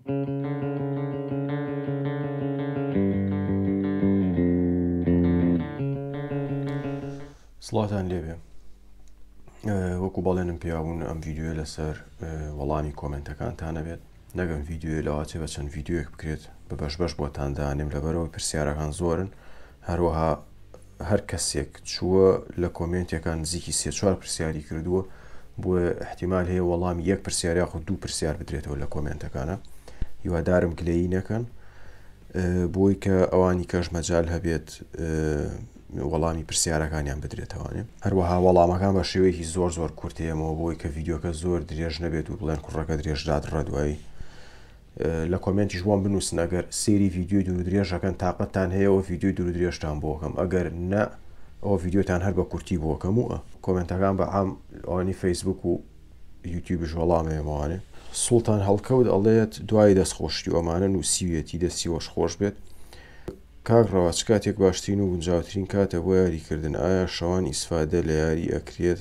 سڵاتان لێبێ وەکو بەڵێنم پیابوون ئەم ڤیددیوە لەسەر وەڵامی کۆمنتەکانتان نەبێت نەگەم ڤیددیوە لەواچێ بە چەند ڤیددیوەک بکرێت بە بەش بەش بۆتان دانێم لەبەرەوە پرسیارەکان زۆرن هەروەها هەر کەسێک چووە لە کۆمێنتێکان نزیکی سێ چوار پرسیاری کردووە بۆیە احتیمال هەیە وەڵامی یەک پرسیار یاخود دوو پرسیار بدرێتەوە لە کۆمێنتەکانە هیوادارم گلەیی نەکەن بۆی کە ئەوانی کەش مەجال هەبێت وەڵامی پرسیارەکانیان بدرێتەوانێ هەروەها وەڵامەکان بە شێوەیەکی زۆر زۆر کورتەیەمەوە بۆی کە ڤیددیوکە زۆر درێژ نەبێت و بڵێن کوڕەکە درێژدات ڕەدوایی لە کۆمێنتیش بۆم بنووسن ئەگەر سەیری ڤیدیۆی دوور و درێژ ئەکەن تاقەتتان هەیە ئەوە ڤیدیۆی دوور و درێژتان بۆ ئەکەم ئەگەر نا ئەوە ڤیدیۆتان هەر بە کورتی بۆ ئەکەم و کۆمێنتەکان بە عام ئەوانی فەیسبوک و یوتیوبش وەڵام ئەیەمەوانێ. سوڵتان هەڵکەوت ئەڵێت دوای دەست خۆشی و ئەمانە نووسیویەتی دەستی وەش خۆش بێت. کاک ڕەوا چ کاتێک باشترین و گونجاوترین کاتە بۆ یاری کردن ئایا شەوان ئیسفادە لە یاری ئەکرێت؟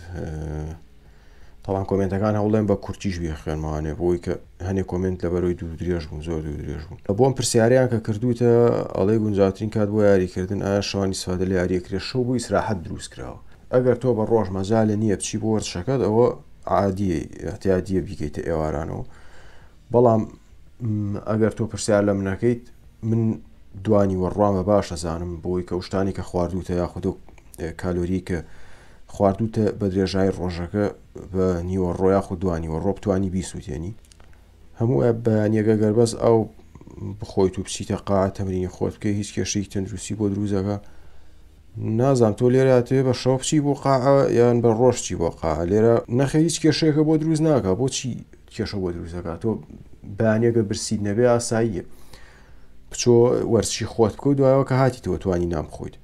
تاوان کۆمێنتەکان هەوڵێن بە کورتیش بیخوێنمەوانێ بۆی کە هەنێ کۆمێنت لەبەرەوەی دوور درێژ بوون زۆر دوور درێژ بوون بۆم پرسیاریان کە کردوتە ئەڵێ گونجاوترین کات بۆ یاریکردن ئایا شەوانی سوادە لە یاریەکرێ شەو بۆ ئیسراحەت دروست کراوە ئەگەر تۆ بە ڕۆژ مەجالە نییە بچی بۆ وەرزشەکەت ئەوە عادیە اعتیادیە بیکەیتە ئێوارانەوە بەڵام ئەگەر تۆ پرسیار لە منەکەیت من دوانی وەڕوان بە باش ئەزانم بۆی کە شتانی کە خواردوتە یاخود کالۆری کە خواردوتە بە درێژای ڕۆژەکە بە نیوەڕۆ یاخود دوانیوەڕۆ بتانی بیسووتێنی هەموو بەیانیەکە گەر بەس ئەو بخۆیت و بچیتە قاعە تەمرینی خۆت بکەی هیچ کێشەی تەندروستی بۆ دروست دەکا نازانم تۆ لێرە ئەتەوێ بە شەو بچی بۆ قاعە یان بە ڕۆژ چی بۆ قاعە لێرە نەخێر هیچ کێشەیەکە بۆ دروست ناکا بۆچی کێشە بۆ دروست دەکات تۆ بەیانیەکە برسیت نەبێ ئاساییە بچۆ وەرزشی خۆت بکە و دوایەوە کە هاتیتەوە توانی نان بخۆیت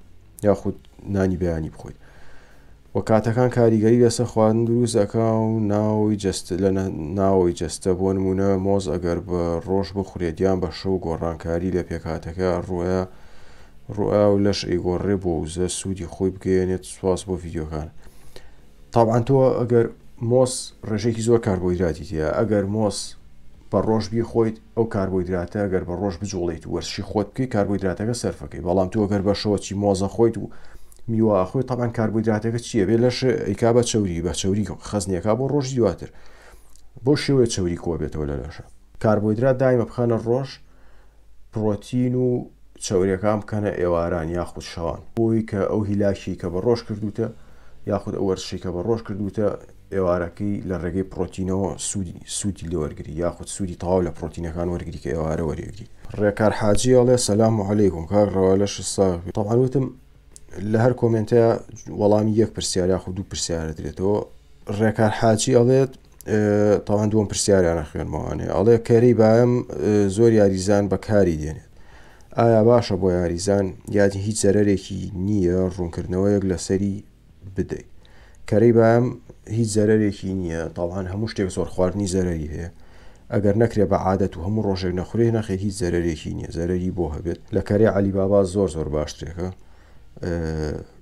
یاخود نانی بەیانی بخۆیت و کاتەکان کاریگەری لەسەر خواردن دروست ئەکا و ناوەوەی جەستە لە ناوەوەی جەستە بۆ نمونە مۆز ئەگەر بە ڕۆژ بخورێت یان بە شەو گۆڕانکاری لە پێکهاتەکە ڕوئە ڕوئا و لەش ئەیگۆڕێ بۆ وزە سوودی خۆی بگەیەنێت سواس بۆ ڤیدیۆکان تابعەن تۆ ئەگەر مۆز ڕێژەیەکی زۆر کاربۆهیدراتی تیا ئەگەر مۆز بە ڕۆژ بیخۆیت ئەو کاربۆهیدراتە گەر بە ڕۆژ بجوڵێیت و وەرزشی خۆت بکەیت کاربۆهیدراتەکە سەرفەکەی بەڵام تۆ گەر بە شەوە چی مۆزە خۆیت و میوە خۆی تەبعەن کاربۆهیدراتەکە چییە بێ لەش ئەیکا بە چەوری بە چەوری خەزنیەکە بۆ ڕۆژی دواتر بۆ شێوەیە چەوری کۆ بێتەوە لە لەشە کاربۆهیدرات دایمە بخەنە ڕۆژ پڕۆتین و چەوریەکان بکەنە ئێواران یاخود شەوان بۆی کە ئەو هیلاکی کە بە ڕۆژ کردوتە یاخود ئەو وەرزشی کە بە ڕۆژ کردوتە ئێوارەکەی لە ڕێگەی پڕۆتینەوە سوودی سوودی لێ وەرگری یاخود سوودی تەواو لە پڕۆتینەکان وەرگری کە ئێوارە وەریگری. ڕێکار حاجی ئەڵێ سلام علیکم کاک ڕەوا لەشت ساغ بێ تەبعەن وتم لە هەر کۆمێنتە وەڵامی یەک پرسیار یاخود دوو پرسیارە درێتەوە ڕێکار حاجی ئەڵێت تاوان دووەم پرسیاریانە خوێنمەوانێ ئەڵێ کەری بایم زۆر یاریزان بەکاری دێنێت ئایا باشە بۆ یاریزان یادی هیچ زەرەرێکی نییە ڕوونکردنەوەیەک لەسەری بدەیت کەرەی بایەم هیچ زەرەرێکی نییە تاوان هەموو شتێک زۆر خواردنی زەرەری هەیە ئەگەر نەکرێ بە عادەت و هەموو ڕۆژێک نەخورێ نەخێر هیچ زەرەرێکی نییە زەرەری بۆ هەبێت لە کەرەی عەلی بابا زۆر زۆر باشترێکە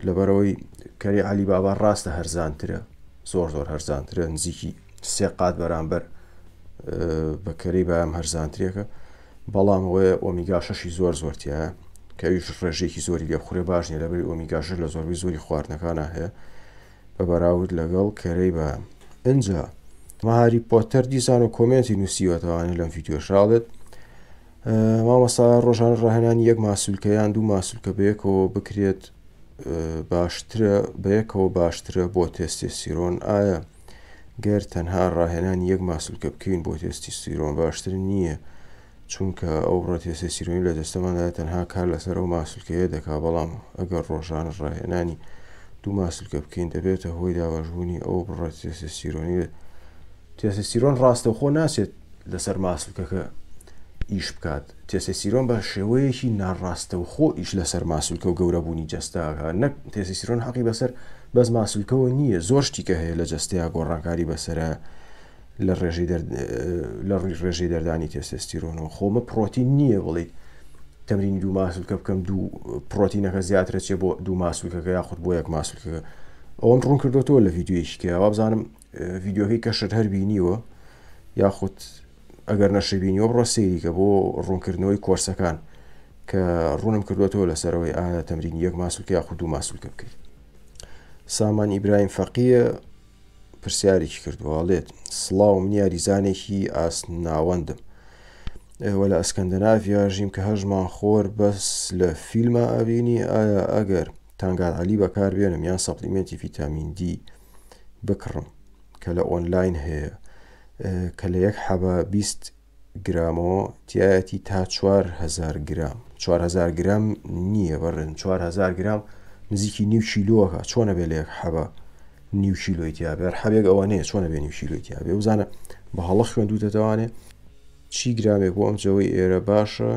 لەبەرەوەی کەری عەلی بابا ڕاستە هەرزانترە زۆر زۆر هەرزانترە نزیکی سێ قات بەرامبەر بە کەرەی بایەم هەرزانترێکە بەڵام ئەوەیە ئۆمیگا شەشی زۆر زۆر تیایە کە ئەویش ڕێژەیەکی زۆری لێ بخورێ باش نییە لەبەری ئۆمیگا شەش لە زۆربەی زۆری خواردنەکانا هەیە بە بەراورد لەگەڵ کەرەی بە ئینجا مەهاری پۆتەر دیسان و کۆمێنتی نووسیوەتەوانێ لەم ڤیدیۆشاڵێت مامۆستا ڕۆژانە ڕاهێنانی یەک ماسولکە یان دوو ماسولکە بەیەکەوە بکرێت باشترە بەیەکەوە باشترە بۆ تێستێسیرۆن ئایا گەر تەنها ڕاهێنانی یەک ماسولکە بکەین بۆ تێستیستیرۆن باشتر نییە چونکە ئەو بڕە تێستێستیرۆنی لە جەستەماندا تەنها کار لەسەر ئەو ماسولکەیە دەکا بەڵام ئەگەر ڕۆژانە ڕاهێنانی دوو ماسولکە بکەین دەبێتە هۆی دابەشبوونی ئەو بڕە تێستێستیرۆنی تێستێستیرۆن ڕاستەوخۆ ناچێت لەسەر ماسولکەکە ئیش بکات تێستێستیرۆن بە شێوەیەکی ناڕاستەوخۆ ئیش لەسەر ماسولکە و گەورەبوونی جەستە ئەکات نەک تێستێستیرۆن حەقی بەسەر بەس ماسولکەوە نییە زۆر شتیکە هەیە لە جەستەیە گۆڕانکاری بەسەرە لە ڕێژەی دەر لە ڕووی ڕێژەی دەردانی تێستێستیرۆنەوە خۆمە پرۆتین نییە بڵیت تەمرینی دوو ماسولکە بکەم دوو پرۆتینەکە زیاترە چێ بۆ دوو ماسولکەکە یاخود بۆ یەک ماسولکەکە ئەوەم ڕوون کردوەوە لە ڤیدیۆیەکی کە وابزانم ڤیدیۆکەی کەشت هەر بینیوە یاخود ئەگەر نەشبینیوە بڕۆ سەیریکە بۆ ڕوونکردنەوەی کۆرسەکان کە ڕوونم کردوێتەوە لەسەرەوەی ئایا تەمرینی یەک ماسولکە یاخود دوو ماسولکە بکەیت. سامان ئیبراهیم فەقیە پرسیارێکی کردووە ئەڵێت سڵاو من یاریزانێکی ئاست ناوەندم وە لە ئەسکەندەناڤیا ژیم کە هەژمان خۆر بەس لە فیلما ئەبینی ئایا ئەگەر تانگار عەلی بەکاربێنم یان supplement ی ڤیتامین دی بکڕم کە لە ئۆنلاین هەیە کە لە یەک حەبە 20 گرامۆ تیایەتی تا 4000 گرام 4000 گرام نییە بەڕێن 4000 گرام نزیکی نیو کیلۆکە چۆنە بێ لە یەک حەبە نیو کیلۆی تیا بێ حەبێک ئەوە نییە چۆنە بێ نیو کیلۆی تیا بێ بزانە بە هەڵە خوێندوتەتەوانێ چی گرامێک بۆ ئەم جەوەی ئێرە باشە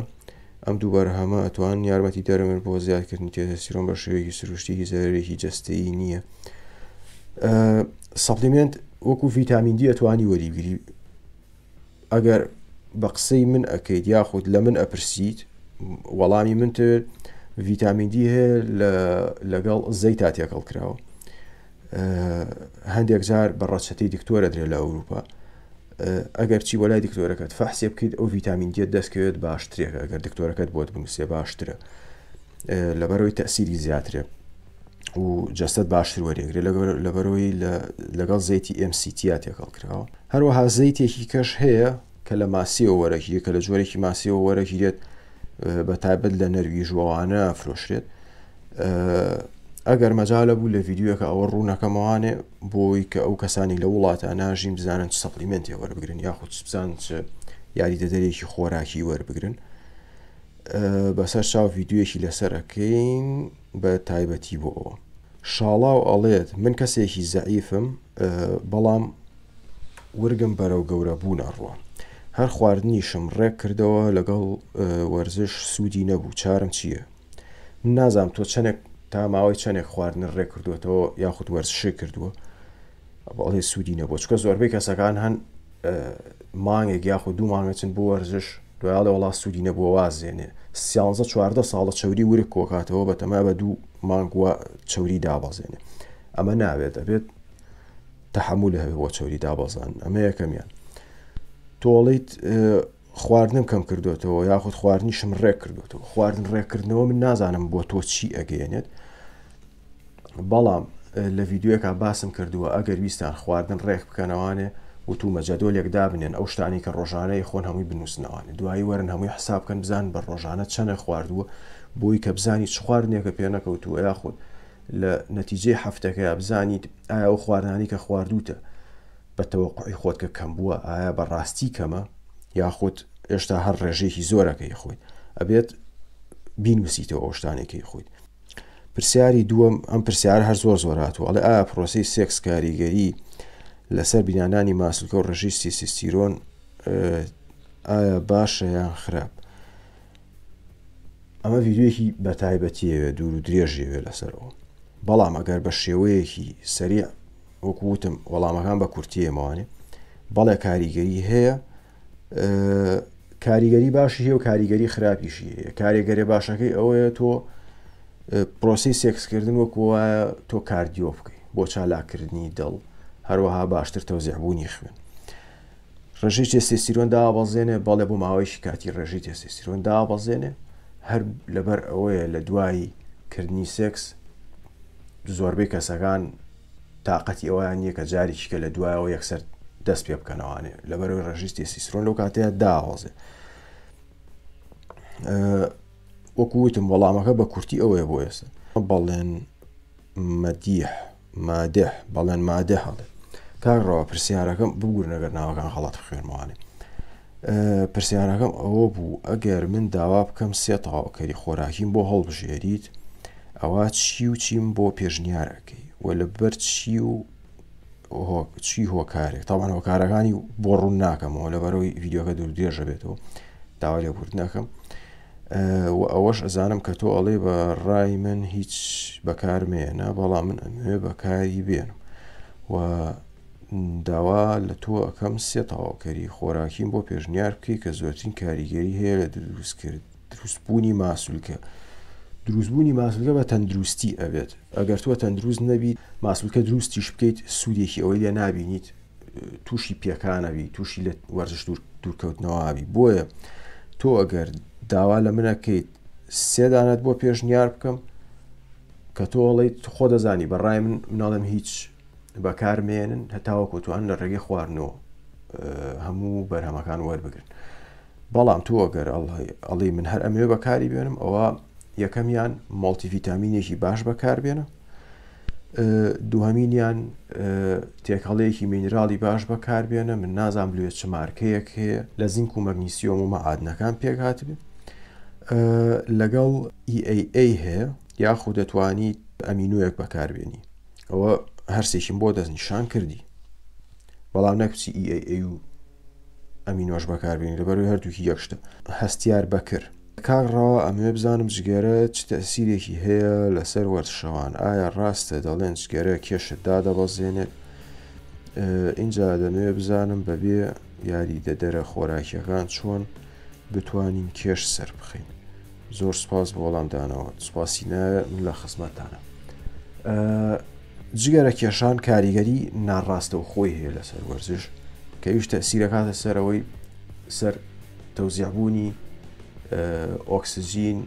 ئەم دوو بەرهەمە ئەتوان یارمەتی دەرمن بۆ زیادکردنی تێستۆستیرۆن بە شێوەیەکی سروشتی هیچ زەرەرێکی جەستەیی نییە supplement وەکو ڤیتامین دی ئەتوانی وەریبگری ئەگەر بە قسەی من ئەکەیت یاخود لە من ئەپرسیت وەڵامی من تر ڤیتامین دی هەیە لەگەڵ زەیتا تێکەڵ کراوە هەندێک جار بە ڕەچەتەی دکتۆرە درێ لە ئەوروپا ئەگەر چی بۆ لای دکتۆرەکەت فەحسێ بکەیت ئەو ڤیتامین دیت دەستکەوێت باشترێکە ئەگەر دکتۆرەکەت بۆت بنووسێ باشترە لەبەرەوەی تەسیری زیاترێ و جەستەت باشتر وەرێگرێ لەبەرەوەی لەگەڵ زەیتی MCT تێکەڵ کراوە هەروەها زەیتێکی کەش هەیە کە لە ماسیەوە وەرەگیرێت کە لە جۆرێکی ماسیەوە وەرەگیرێت بە تایبەت لە نەرویژوەوانە فرۆشرێت ئەگەر مەجالە بوو لە ڤیددیوەکە ئەوە ڕوونەکەمەوانێ بۆی کە ئەو کەسانی لە وڵاتە ناژین بزانن چ supplement ێ وەربگرن یاخود بزانن چ یاریدەدەرێکی خۆراکی وەربگرن بەسەر چاو ڤیددیوەکی لەسەر ئەەکەین بە تایبەتی بۆ ئەوە شاڵاو ئەڵێت من کەسێکی زەعیفم بەڵام ورگم بەرەو گەورە بوون ئەڕوا هەر خواردنیشم ڕێک کردەوە لەگەڵ وەرزش سوودی نەبوو چارم چییە؟ من نازانم تۆ چەندێک تا ماوەی چەندێک خواردن ڕێک کردوێتەوە یاخود وەرزشی کردووە بەڵێ سوودی نەبوو چکە زۆربەی کەسەکان هەن مانگێک یاخود دوو مانگەچن بۆ وەرزش دوایڵێ وڵا سوودی نەبووە وازێنێ سیانزە چواردە ساڵە چەوری ورک کۆکاتەوە بەتەما بە دوو مانگوە چەوری دابەزێنێ ئەمە ناوێت ئەبێت تەحەمولی هەبێ بۆ چەوری دابەزان ئەمە یەکەمیان تۆڵیت خواردنم کەم کردوێتەوە یاخود خواردنیشم ڕێک کردوێتەوە خواردن ڕێککردنەوە من نازانم بۆ تۆ چی ئەگەیەنێت بەڵام لە ڤیددیوەکە باسم کردووە ئەگەر ویستان خواردن ڕێک بکەنەوانێ وتومە جەدۆلێک دابنێن ئەو شتانی کە ڕۆژانەی خۆن هەمووی بنووسنەوانێ دوایی وەرن هەمووی حساب بکەن بزان بە ڕۆژانە چەنە خواردووە بۆی کە بزانی چ خواردنێکە پێ نەکەوتووە یاخود لە نەتیجەی هەفتەکەیا بزانیت ئایا ئەو خواردنانەی کە خواردووتە بە تەوەقوعی خۆت کە کەم بووە ئایا بە ڕاستی کەمە یاخود ئێشتا هەر ڕێژەیەکی زۆرەکەی خۆیت ئەبێت بینوسیتەوە ئەو شتانێکی خۆیت پرسیاری دووەم ئەم پرسیار هەر زۆر زۆر هاتووە ئەڵێ ئایا پرۆسەی سێکس کاریگەری لەسەر بینانانی ماسولکە و ڕێژەی تێستۆستیرۆن ئایا باشە یان خراپ ئەمە ڤیدیۆیەکی بە تایبەتیەوێ دوور و درێژیەوێ لەسەرەوە بەڵام ئەگەر بە شێوەیەکی سەریع وەکو وتم وەڵامەکان بە کورتیەمەوانێ بەڵێ کاریگەری هەیە کاریگەری باشی هەیە و کاریگەری خراپیشی هەیە کارێگەری باشەکەی ئەوەیە تۆ پرۆسی سێکسکردن وەکو وایە تۆ cardio بکەیت بۆ چالاکردنی دڵ هەروەها باشتر تەوزیعبوونی خوێن ڕێژەی تێستێستیرۆن دابەزێنێ؟ بەڵێ بۆ ماوەیەکی کاتی ڕێژەی تێستێستیرۆن دابەزێنێ هەر لەبەر ئەوەیە لە دوای کردنی سێکس زۆربەی کەسەکان تااقەتی ئەویان نییە کە جارێکی کە لە دوایەوە یەکسەر دەست پێ بکەنەوانێ لەبەرەوەی ڕێژەی تێستیسترۆن لەو کاتەیە داوەزێ وەکو وتم وەڵامەکە بە کورتی ئەوەیە بۆ ئێستا بەڵێن مەدیح مادح بەڵێن مادح ئەڵێ کاک ڕەوا پرسیارەکەم ببورن ئەگەر ناوەکان غەڵەت بخوێنمەوانێ پرسیارەکەم ئەوە بوو ئەگەر من داوا بکەم سێ تەواوکەری خۆراکیم بۆ هەڵبژێریت ئەوە چی و چیم بۆ پێشنیارەکەی و لەبەر چی و چی هۆکارێک تاوان هۆکارەکانی بۆ ڕوون ناکەمەوە لەبەرەوەی ڤیددیوکە دوور درێژە بێتەوە داوا لێبوردنەکەم وە ئەوەش ئەزانم کە تۆ ئەڵێی بە ڕای من هیچ بەکار مێنە بەڵام من ئەمەوێ بەکاری بێنم و داوا لە تۆ ئەەکەم سێ تەواوکەری خۆراکیم بۆ پێشنیار بکەی کە زۆرترین کاریگەری هەیە لە دروستکرد دروستبوونی ماسولکە دروستبوونی ماسولکە بە تەندروستی ئەبێت ئەگەر تۆ تەندروست نەبیت ماسولکە دروستیش بکەیت سوودێکی ئەوەی لێ نابینیت. تووشی پێکانەبی تووشی لە وەرزش دوورکەوتنەوەبی بۆیە تۆ ئەگەر داوا لە منەکەیت سێدانەت بۆ پێشنیار بکەم کە تۆ ئەڵێیت خۆ دەزانی بە ڕای من مناڵم هیچ بەکارمێنن هەتاوەکو توان لە ڕێگەی خواردنەوە هەموو بەرهەمەکان وەربگرن بەڵام تۆ ئەگەر ئەڵی من هەر ئەمەوێ بەکاری بێنم ئەوە یەکەمیان مۆڵتیڤیتامینێکی باش بەکاربێنە دووهەمینیان تێکەڵەیەکی مینراڵی باش بەکاربێنە من نازانم لێ چ مارکەیەک هەیە لە زینک و مەگنیسیۆم و مەعادنەکان پێک هاتبێ لەگەڵ EAA هەیە یاخود دەتوانیت ئەمینۆیەک بەکاربێنی ئەوە هەرسێکیم بۆ دەستنیشان کردی بەڵام نەکچی EAA و ئەمینۆش بەکاربێنی لەبەرەوەی هەردووکی یەک شتە. هەستیار بەکر. کاک ڕەوا ئەمەوێ بزانم جگەرە چ تەئسیرێکی هەیە لەسەر وەرزشەوان ئایا ڕاستە دەڵێن جگەرە کێشت دادەبەزێنێت ئینجا دەمەوێ بزانم بەبێ یاریدەدەرە خۆراکیەکان چۆن بتوانین کێش سەربخەین زۆر سپاس بۆ وەڵام دانەوە سپاسی ناوێ من لە خزمەتتانە جگەرە کێشان کاریگەری ناڕاستەوخۆی هەیە لەسەر وەرزش کە ئەویش تەسیرەکاتە سەرەوەی سەر تەوزیعبوونی ئۆکسجین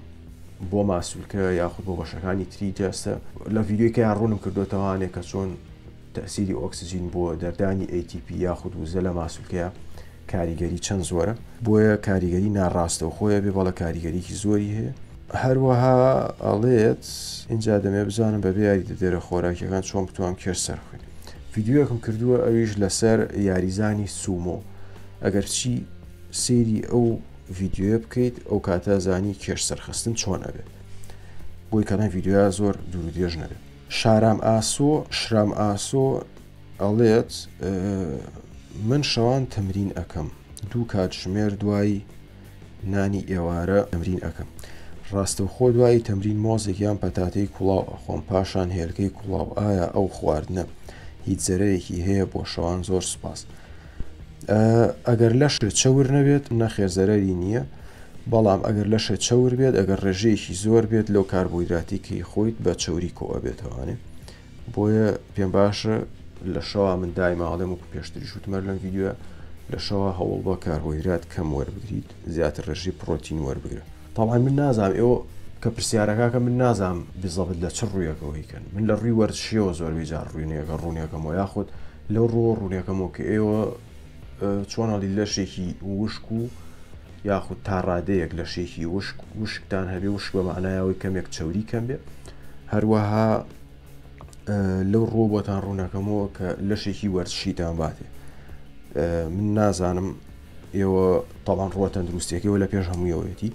بۆ ماسولکە یاخود بۆ بەشەکانی تری جەستە لە ڤیدیۆکەیان ڕوونم کردوتەوانێ کە چۆن تەئسیری ئۆکسجین بۆ دەردانی ATP یاخود وزە لە ماسولکەیە کاریگەری چەند زۆرە بۆیە کاریگەری ناڕاستەوخۆیە بێ بەڵە کاریگەریکی زۆری هەیە هەروەها ئەڵێت اینجا دەمێ بزانم بەبێ یاریدەدەرە خۆراکیەکان چۆن بتوانم کێش سەرخوێن ڤیدیۆیەکم کردووە ئەویش لەسەر یاریزانی سومۆ ئەگەر چی سەیری ئەو ڤیدیۆیە بکەیت ئەو کاتە زانی کێش سەرخستن چۆن ئەبێت بۆی کەڵێن ڤیدیۆیا زۆر دوور درێژ نەبێت شارام ئاسۆ شرام ئاسۆ ئەڵێت من شەوان تەمرین ئەکەم دوو کاتژمێر دوای نانی ئێوارە تەمرین ئەکەم ڕاستەوخۆ دوای تەمرین مۆزێک یان پەتاتەی کوڵاو ئەخۆم پاشان هێلکەی کوڵاو ئایا ئەو خواردنە هیچ زەرەرێکی هەیە بۆ شەوان زۆر سوپاس ئەگەر لەشت چەور نەبێت نەخێر زەرەری نییە بەڵام ئەگەر لەشت چەور بێت ئەگەر ڕێژەیەکی زۆر بێت لەو کاربۆیدراتی کەی خۆیت بە چەوری کۆ ئەبێتەوانێ بۆیە پێم باشە لە شەوا من دایما ئەڵێم وەکو پێشتریش وتم هەر لەم ڤیدیۆیە لە شەوا هەوڵ بە کاربۆیدرات کەم وەربگریت زیاتر ڕێژەی پڕۆتین وەربگرە تەبعەن من نازانم ئێوە کە پرسیارەکەکە من نازانم بزەبت لە چ ڕوویەکەوە هیکەن من لە ڕووی وەرزشیەوە زۆربەی جار ڕوونێکە ڕوونێکەمەوە یاخود لەو ڕووە ڕوونێکەمەوە کە ئێوە چۆن هەڵی لەشێکی وشک و یاخود تا ڕادەیەک لەشێکی وشک وشکتان هەبێ وشک بە معنایەوەی کەمێک چەوری کەم بێ هەروەها لەو ڕوو بۆتان ڕوونەکەمەوە کە لەشێکی وەرزشیتان باتێ من نازانم ئێوە تاوان ڕووە تەندروستیەکەەوە لە پێش هەموویەوەیەتی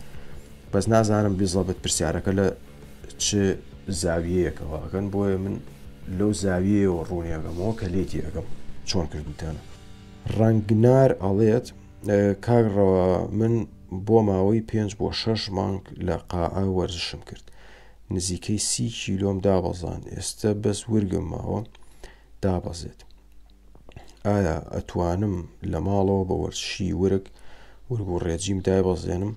بەس نازانم بزڵبت پرسیارەکە لە چ زاویەیەکەوە ئەکەن بۆیە من لەو زاویەیەوە ڕوونیەکەمەوە کە لێتی ئەگەم چۆن کردوتانە ڕەنگنار ئەڵێت کاک ڕەوا من بۆ ماوەی پێنج بۆ شەش مانگ لە قاعە وەرزشم کرد نزیکەی سی کیلۆم دابەزاند ئێستە بەس ورگم ماوە دابەزێت ئایا ئەتوانم لە ماڵەوە بە وەرزشی ورگ ورگ و ڕێجیم دایبەزێنم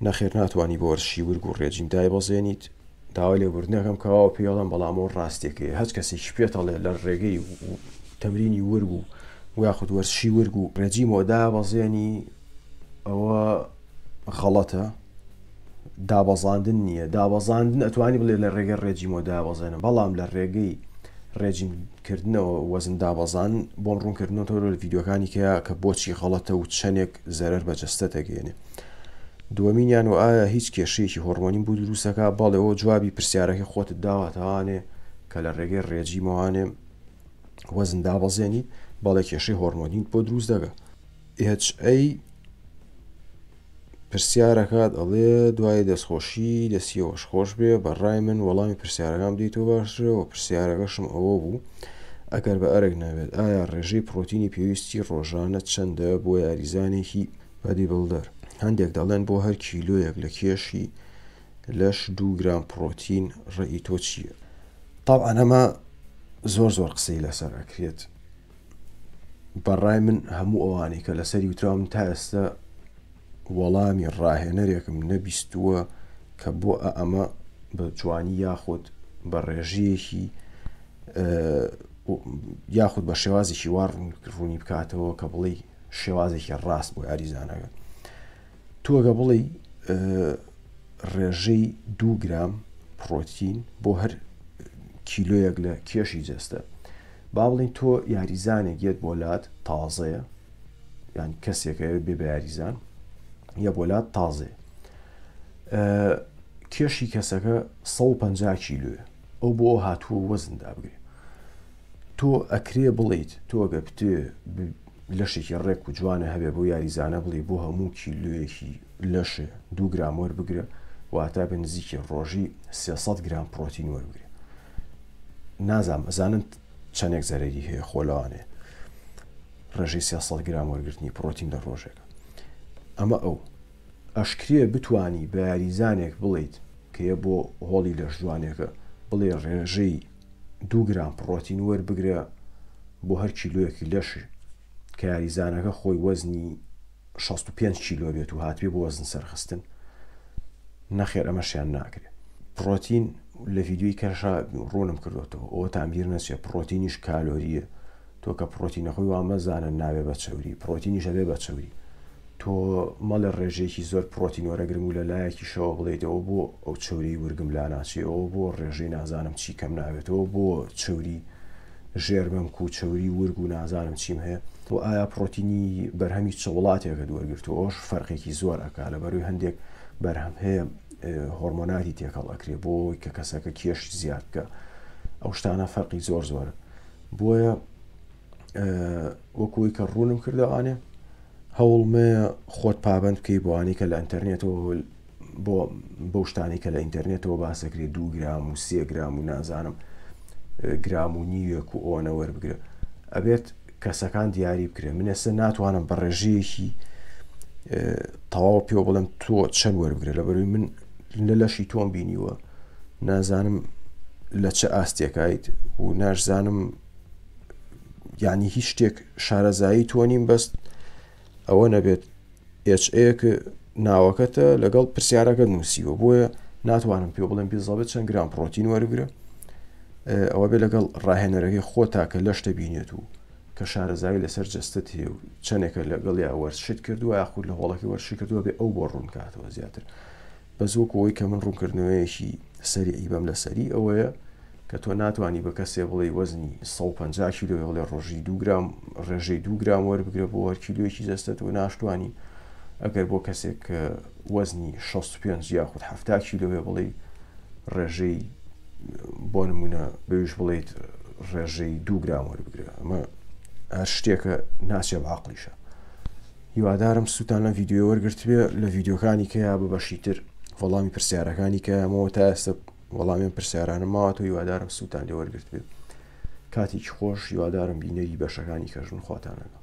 نەخێر ناتوانانی بە وەرزشی ورگ و ڕێجیم دایبەزێنیت داوای لێبوردنەکەم کەواوە پێڵم بەڵام ئەو ڕاستێکەیە هەچ کەسێکی پێتەڵێ لە ڕێگەی تەمرینی ورگ و یاخود وەرزشی ورگ و ڕێجیمەوە دابەزێنی ئەوە غەڵەتە دابەزاندن نییە دابەزاندن ئەتوانی بڵێ لە ڕێگەی ڕێجیمەوە دابەزێنم بەڵام لە ڕێگەی ڕێجیم کردنەوە وەزن دابەزان بۆم ڕوونکردنەوە لە ڤیدیۆکانی کە کە بۆچی غەڵەتە و چەندێک زەرەر بە جەستە دەگەێنێ دووەمینیان و ئایا هیچ کێشەیەکی هۆرمۆنیم بۆ دروستەکە بەڵێ ئەوە جوابی پرسیارەکەی خۆتت داواتەوانێ کە لە ڕێگەی ڕێجیمەوانێ وەزن دابەزێنی بەڵێ کێشەی هۆرمۆنیت بۆ دروست دەگە HA پرسیارەکات ئەڵێ دوای دەستخۆشی دەستیەوەش خۆش بێ بە ڕای من وەڵامی پرسیارەکان بدەیتەوە باشترە و پرسیارەکەشم ئەوە بوو ئەگەر بە ئەرک نەبێت ئایا ڕێژەی پرۆتینی پێویستی ڕۆژانە چەندە بۆ یاریزانێکی body builder هەندێک دەڵێن بۆ هەر کیلۆیەک لە کێشی لەش دوو گرام پرۆتین ڕێی تۆ چییە؟ تەبعەن ئەمە زۆر زۆر قسەی لەسەر ئەکرێت بەڕای من هەموو ئەوانەی کە لەسەری وتراون تا ئێستا وەڵامی ڕاهێنەرێکم نەبیستووە کە بۆ ئەمە بە جوانی یاخود بە ڕێژەیەکی. یاخود بە شێوازێکی وا ڕوونی بکاتەوە کە بڵێی شێوازێکی ڕاست بۆ یاریزانەکە تۆ گە بڵێی ڕێژەی دوو گرام پڕۆتین بۆ هەر کیلۆیەک لە کێشی جەستە با بڵین تۆ یاریزانێک یەت بۆ لات تازەیە یان کەسێکە بێ بە یاریزان یە بۆ لات تازەیە کێشی کەسەکە 150 کیلوە ئەو بۆ هاتووە وەزن دابگرێ تۆ ئەکرێ بڵێیت تۆ گەر بتەوێ لەشێکی ڕێک و جوانە هەبێ بۆ یاریزانە بڵێ بۆ هەموو کیلۆیەکی لەشێ دوو گرام وەربگرە واتا بە نزیکی ڕۆژی 300 گرام پرۆتین وەربگرێ نازام ئەزانن چەندێک زەرەری هەیە خۆ لەوانەیە ڕێژەی 300 گرام وەرگرتنی پرۆتین لە ڕۆژێکە ئەمە ئەو ئەشکرێ بتانی بە یاریزانێک بڵیت کە یە بۆ هۆڵی لەشجوانێکە بڵێ ڕێژەی دوو گرام پڕۆتین وەربگرە بۆ هەر کیلۆیەکی لەش کە یاریزانەکە خۆی وەزنی 65 کیلۆ بێت و هاتبێ بۆ وەزن سەرخستن نەخێر ئەمەشیان ناکرێت پڕۆتین لە ڤیدیۆی کەشا ڕوونم کردوێتەوە ئەوەتان بیر نەچێت پڕۆتینیش کالۆریە تۆ کە پڕۆتینە خۆی وا مەزانە نابێ بە چەوری پڕۆتینیش ئەبێ بە چەوری تۆ مەڵێ ڕێژەیەکی زۆر پڕۆتین وەرەگرم و لە لایەکیشەوە بڵێیت ئەوە بۆ ئەو چەوری ورگم لاناچێ ئەوە بۆ ڕێژەی نازانم چی کەم نابێتەوە بۆ چەوری ژێر مەمک و چەوری ورگ و نازانم چیم هەیە و ئایا پڕۆتینی بەرهەمی چ وڵاتێکت وەرگرتووە ئەوش فەرقێکی زۆر ئەکا لەبەروی هەندێک بەرهەم هەیە هۆرمۆناتی تێکەڵ ئەکرێ بۆ کە کەسەکە کێشی زیاد بکە ئەو شتانە فەرقی زۆر زۆرە بۆیە وەکوی کە ڕوونم کردەوانێ هەوڵمەیە خۆت پابند بکەی بۆوانی کە لە ئینتەرنێتەوە بۆ بەو شتانی کە لە ئینتەرنێتەوە باسەکرێ دو گرام و سێ گرام و نازانم گرام و نیوێک و ئەوەنە وەربگرە ئەبێت کەسەکان دیاری بکرێن من ئێستا ناتوانم بە ڕێژەیەکی تەواو پێ بڵێم تۆ چەند وەربگرە لە بەروی من لە لەشی تۆم بینیوە نازانم لە چ ئاستێکایت و ناشزانم یعنی هیچ شتێک شارەزایی تۆ نیم بەست ئەوە نەبێت HA ناوەکەتە لەگەڵ پرسیارەکە نووسیوە بۆیە ناتوانم پێ بڵێم بیزەبێت چەند گرام پرۆتین وەربگرە ئەوە بێ لەگەڵ ڕاهێنەرەکەی خۆتا کە لەشتە بینێت و کە شارەزایی لەسەر جەستەت هەیە و چەندێکە لەگەڵیا وەرزشت کردووە یاخود لە هۆڵەکەی وەرزشی کردووە بێ ئەو بۆ ڕوون کاتەوە زیاتر بەس وەکو ئەوەی کە من ڕوونکردنەوەیەکی سەریعی بەم لەسەری ئەوەیە کە تۆ ناتوانی بە کەسێ بڵێی وەزنی 150 کیلۆ بڵێ ڕۆژی دو گرام ڕێژەی دو گرام وەربگرە بۆ هەر کیلۆیەکی جەستەت و ناشتوانی ئەگەر بۆ کەسێک کە وەزنی 65 یاخود 70 کیلۆ بڵێ ڕێژەی بۆ نمونە بەویش بڵیت ڕێژەی دوو گرام وەربگرە ئەمە هەر شتێکە ناچێ بە عقلیشە هیوادارم سوودتان لەم ڤیدیۆیە وەرگرتبێ لە ڤیدیۆکانی کەیا بە بەشی تر وەڵامی پرسیارەکانی کەیامەوە تا ئێستا وەڵامی پرسیارانە ماوەتەوە هیوادارم سوودتان لێ وەرگرتبێ کاتێکی خۆش هیوادارم بینەری بەشەکانی کەژن خواتان لەگەڵ.